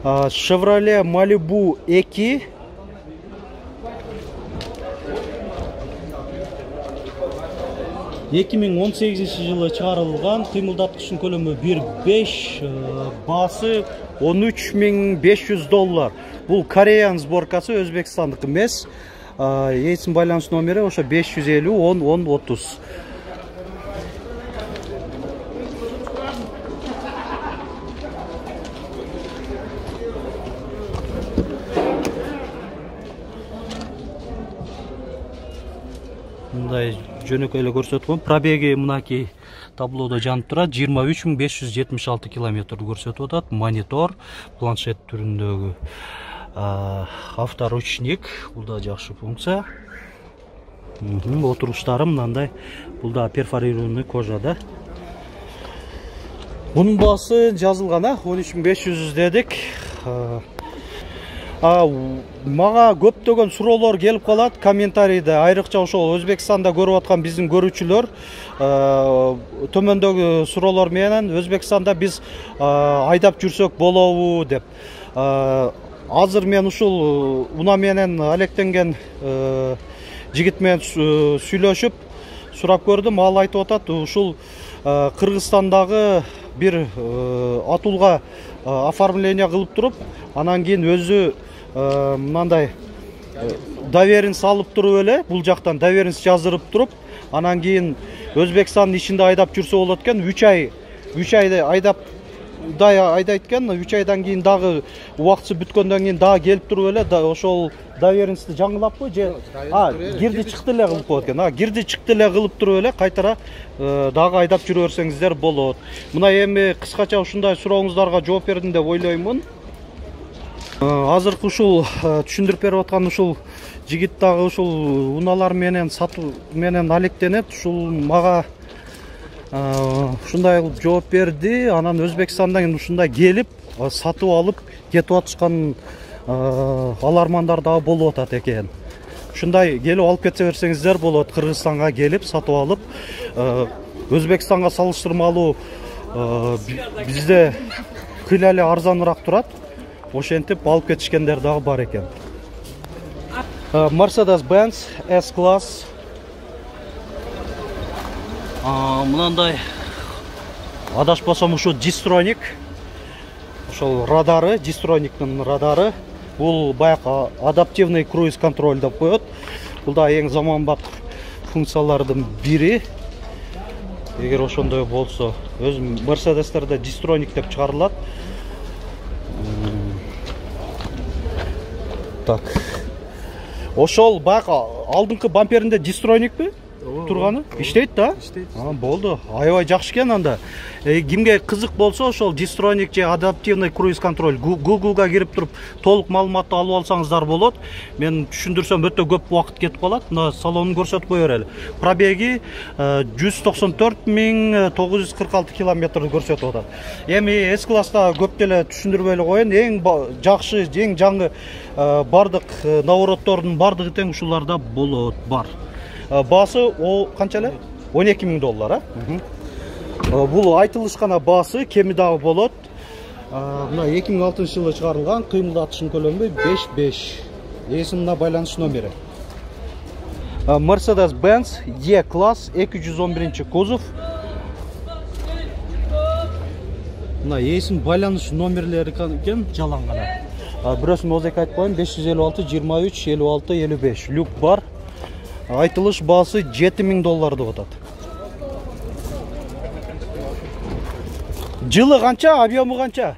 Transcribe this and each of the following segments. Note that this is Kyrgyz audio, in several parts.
Chevrolet Malibu 2. Эки миң 18 жылы чыгарылган, кыймылдаткычтын көлөмү 1.5, баасы $13.500. Бул Кореян сборкасы, Өзбекстандык эмес. Эйсин байланыш номери ошо 550 10 10 30. Мындай жөнөкөй эле көрсөтүп коем. Пробеги мынакей таблоодо жанып турат. 23.576 километрди көрсөтүп атат. Монитор, планшет түрүндөгү авторучник. Бул да жакшы функция. Отуруштары мындай. Бул да перфорированный кожада. Бунун баасы жазылган, 13.500 дедик. Мага көптөгөн суроолор келип калат комментарийде, айрыкча ошол Өзбекстанда көрүп аткан биздин көрүүчүлөр төмөндөгү суроолор менен Өзбекстанда биз айдап жүрсөк болобу деп. Азыр мен ушул унаа менен алектенген жигит менен сүйлөшүп сурап көрдүм. Ал айтып атат, ушул Кыргызстандагы бир атуулга оформление кылып туруп, анан кийин өзү мындай доверенность алып туруп эле, бул жактан доверенность жаздырып туруп, анан кийин Өзбекстандын ичинде айдап жүрсө болот экен. 3 айда айдайт экен. 3 айдан кийин дагы убактысы бүткөндөн кийин дагы келип туруп эле ошол доверенностьти жаңылаппы же кирди чыкты эле кылып коет экен. Кирди чыкты эле кылып туруп эле кайтара дагы айдап жүрө берсеңиздер болот. Мына эми кыскача ушундай сурооңуздарга жооп бердим деп ойлоймун. Азыркы ушул түшүндүрүп берип аткан ушул жигит дагы ушул унаалар менен сатуу менен алектенет. Ушул мага ушундай кылып жооп берди. Анан Өзбекстандан ушундай келип сатып алып кетип атышкан алармандар дагы болуп атат экен. Ушундай келип алып кете берсеңиздер болот. Кыргызстанга келип сатып алып, Өзбекстанга салыштырмалуу бизде кыйла эле арзаныраак турат. Ошентип алып кетишкендер дагы бар экен. Mercedes-Benz S-класс. Мынандай адашпасам ушу Distronic. Ошол радары, Distronic'тын радары. Бул баягы адаптивный круиз контроль деп коет. Бул да эң заманбап функциялардын бири. Эгер ошондой болсо, өзүм Mercedes'терде Distronic деп чыгарылат. Так. Ошол баягы алдыңкы бамперинде Distronic'пи турганы? Иштейт да? Иштейт. Болду. Аябай жакшы экен анда. Кимге кызык болсо, ошол Distronic же адаптивный круиз контроль Google'га кирип туруп толук маалыматты алып алсаңыздар болот. Мен түшүндүрсөм өтө көп убакыт кетип калат. Мына салонун көрсөтүп кое берели. Пробеги 194.946 километрди көрсөтүп атат. Эми S-класста көп деле түшүндүрбөй эле коеюн. Эң жакшы, эң жаңы бардык навороттордун бардыгы тең ушуларда болот, бар. Баасы канча эле? $12.000, Бул айтылышкан баасы, кеми дагы болот. Мына 2006 жылы чыгарылган, кыймылдатышын көлөмү 5.5. Эсимна байланыш номери. Mercedes-Benz E-класс 211 кузов. Мына эсим байланыш номерлери экен, жалаң гана. Бирөөсүн озек айтып коеюн, 556 23 56 55. Люк бар. Айтылыш баасы $7.000 деп атат. Жылы канча, объему канча?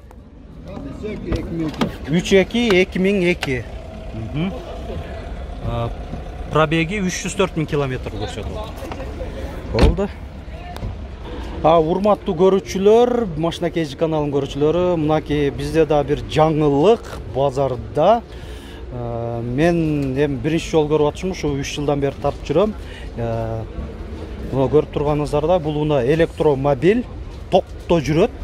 3.2 Пробеги 304.000 километр көрсөтүп атат. Болду. Урматтуу көрүүчүлөр, Машина Кежи каналынын көрүүчүлөрү, мынакей бизде да бир жаңылык базарда. Мен биринчи жолу көрүп атышым, ушу 3 жылдан бери тартып жүрөм. Мына көрүп турганыңыздарда бул уна электромобиль, токто жүрөт.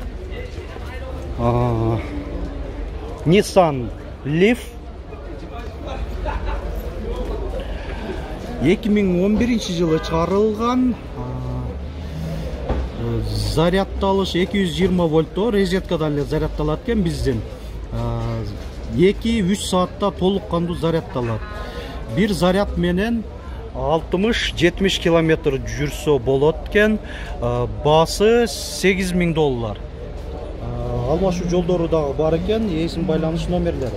Nissan Leaf 2011 жылы чыгарылган. Зарядталыш 220 вольттоо, розеткадан эле зарядталат экен биздин. 2-3 саатта толук кандуу заряддалат. Бир заряд менен 60-70 километр жүрсө болот экен. Баасы $8000. Алмашуу жолдору дагы бар экен, эсин байланыш номерлери.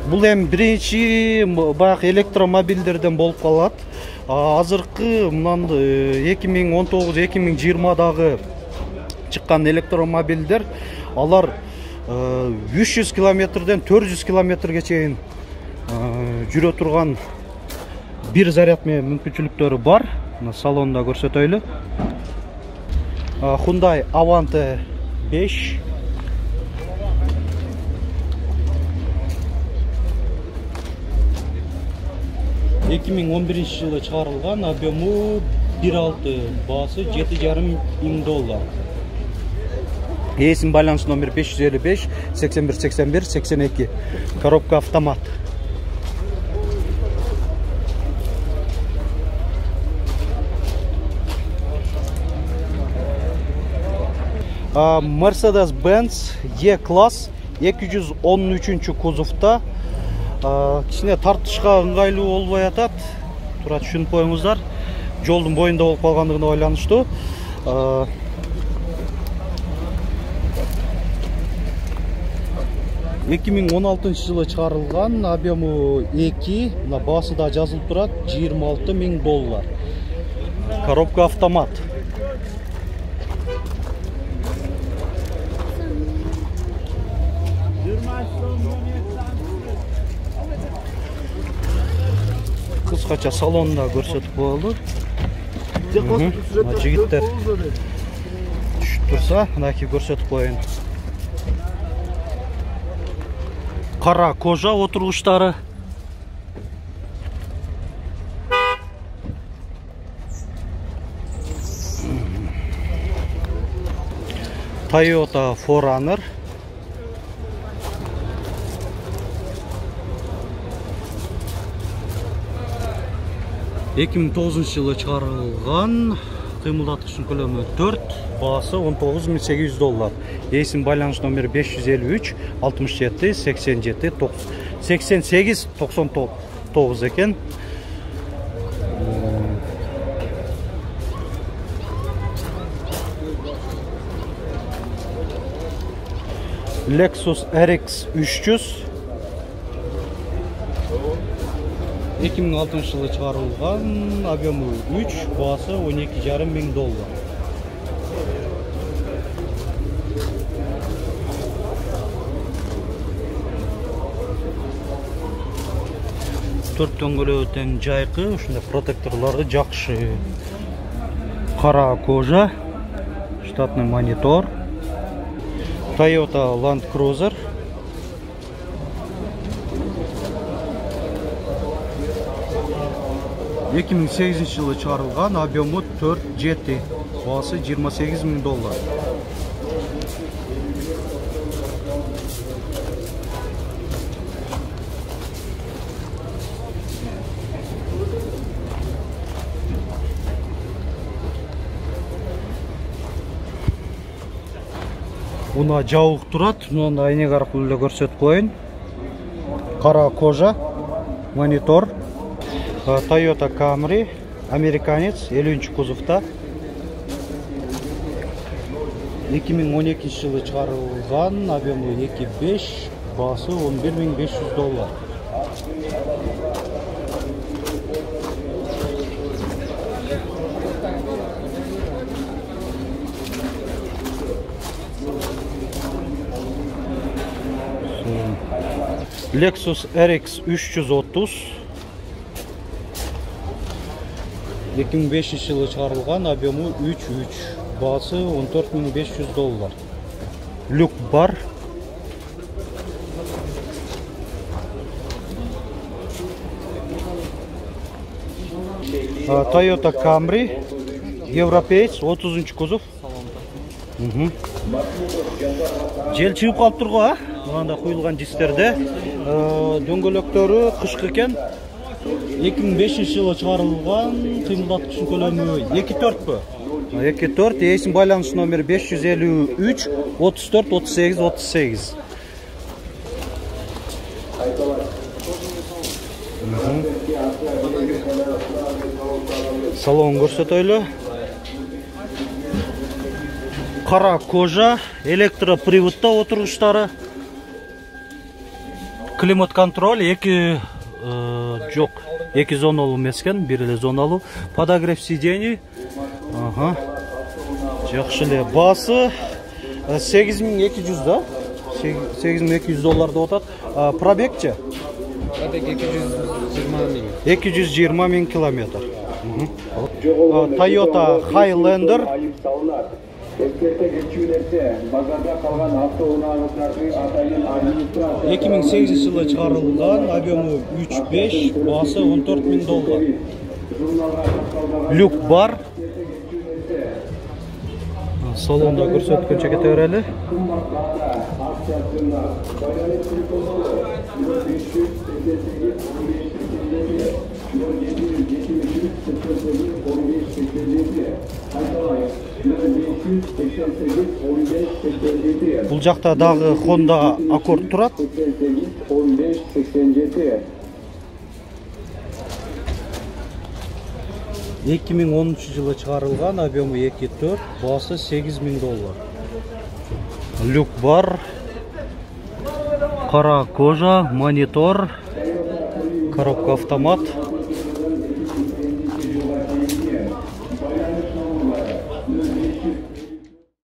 Бул эми биринчи баягы электромобилдерден болуп калат. Азыркы мынан 2019-2020дагы чыккан электромобилдер алар 300 километрден 400 километрге чейин жүрө турган бир заряд менен мүмкүнчүлүктөрү бар. Мына салонда көрсөтөйлү. Hyundai Avante 5. жылы чыгарылган, объему 1.6, баасы $7.500. Эсин байланыш номер 555 81 81 82. Коробка автомат. Mercedes-Benz E-класс 213 кузовта. Кичине тартышка ыңгайлуу болбой атат. Тура түшүнүп коюңуздар. Жолдун боюнда болуп калгандыгына байланыштуу. 2016 жылы чыгарылган, объему 2, мына баасы да жазылып турат, $26.000. Коробка автомат. Кыскача салонда көрсөтүп коелу. Жигиттер түшүп турса, мынакей көрсөтүп коеюн. Кара кожа отургучтары. Toyota 4Runner. жылы чыгарылган, кыймылдаткычтын көлөмү 4, баасы $19.800. Эсин байланыш номер 553 67 87 88 99 экен. Lexus RX 300 2006 жылы чыгарылган, объему 3, баасы $12.500. Төрт дөңгөлөгү тең жайкы, ушундай протекторлору жакшы. Кара кожа, штатный монитор. Toyota Land Cruiser. жылы чыгарылган, объему 4 GT, баасы $28.000. Уна жабык турат, мындан айнек аркылуу эле көрсөтүп коеюн. Кара кожа, монитор. Toyota Camry, американец, 50 кузовта. 2012 жылы чыгарылган, объему 2.5, баасы $11.500. Lexus RX 330 2005 жылы чыгарылган, объему 3.3, баасы $14.500. Люк бар. Toyota Camry, европеец, 30 кузов. Жел чыгып калып турго, а? Мында куюлган дистерде. Дөңгөлөктөрү кышкы экен. 2005 жылы чыгарылган, кыймылдаткычтын көлөмү 2.4 бö? 24 эсин байланыш номери 553 34 38 38. Салон көрсөтөйлү. Кара кожа, электроприводта отуруштары. Климат контроль, жок, 2 зоналуу эмес экен, бир эле зоналуу. Подогрев сидений. Жакшы эле. Баасы 8200 да? 8200 доллар деп атат. Пробегчи? Пробег 220 000 километр. Toyota Highlander. 2008 жылы чыгарылган, объему 3.5, баасы 14.000 доллар. Люк бар. Салонда көрсөткөнчө кете берели. Бул жакта дагы Honda Accord турат. 2013 жылы чыгарылган, объему 2.4, баасы 8000 доллар. Люк бар. Кара кожа, монитор, коробка автомат.